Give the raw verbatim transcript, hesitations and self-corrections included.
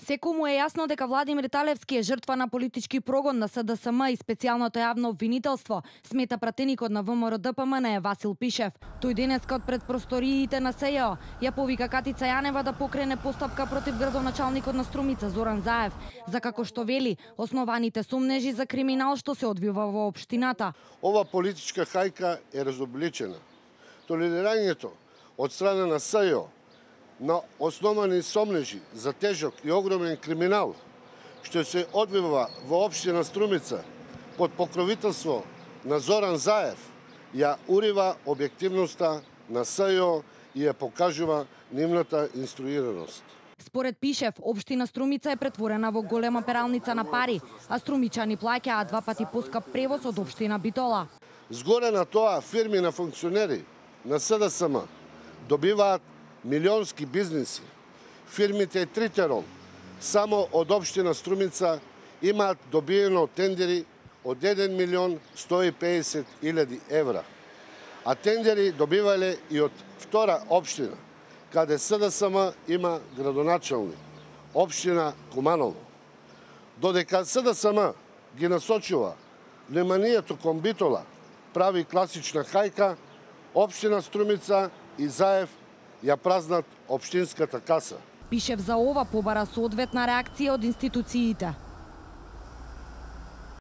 Секому е јасно дека Владимир Талевски е жртва на политички прогон на С Д С М и специјалното јавно обвинителство, смета пратеникот на В М Р Д П М Н Васил Пишев. Тој денескот пред просториите на С Ј О ја повика Катица Јанева да покрене постапка против градоначалникот на Струмица Зоран Заев, за како што вели основаните сумнежи за криминал што се одвива во општината. Ова политичка хајка е разобличена. Толерирањето од страна на С Ј О на основани сомнежи за тежок и огромен криминал, што се одвива во општина Струмица под покровителство на Зоран Заев, ја урива објективноста на С Ј О и ја покажува нивната инструираност. Според Пишев, општина Струмица е претворена во голема пералница на пари, а струмичани плаќаат два пати поскап превоз од општина Битола. Згоре на тоа, фирми на функционери на С Д С М добиваат милионски бизниси. Фирмите Тритерол само од општина Струмица имаат добиено тендери од еден милион сто и педесет илјади евра. А тендери добивале и од втора општина, каде С Д С М има градоначалник, општина Куманово. Додека С Д С М ги насочува вниманието кон Битола, прави класична хајка, општина Струмица и Заев ја празнат општинската каса. Пишев за ова побара соодветна реакција од институциите.